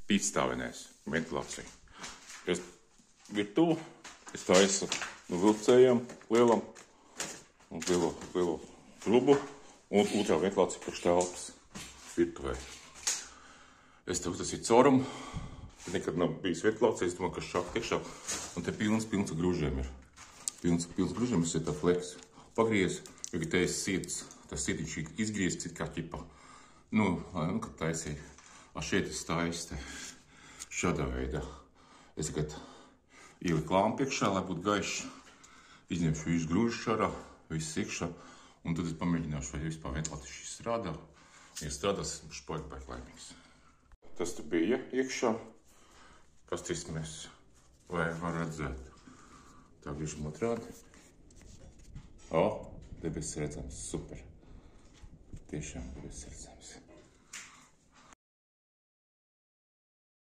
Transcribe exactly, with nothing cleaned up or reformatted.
pītstāvenēs ventilācija. Es virtuvu, es taisu no vilcējiem lielam un lielo, lielo trubu un otrā ventilācija priekš telpas virtuvē. Es te uztasīju caurumu, nekad nav bijis ventilācija, es domāju, ka šāk tiekšā, un te pilns, pilns grūžiem ir. Pilns, pilns grūžiem, es ir tā fleks. Pagriez, jo, ka te es sietas, tas sietiņš izgriezts, it kā ķipa. Nu, nu, kad taisīju. A šeit es taisu te šādā veidā. Es tagad ieliku lāmpu iekšā, lai būtu gaišs. Izņemšu visu grūžu šārā, viss iekšā, un tad es pamēģināšu, vai vispār ventilācija šis strādā. Ja strādās, es būšu paļķi baigi laimīgs. Tas te bija iekšā. Pastīsim mēs, vai var redzēt. Tā grīžam otrādi. O, debesis redzams, super. Tiešām debesis redzams.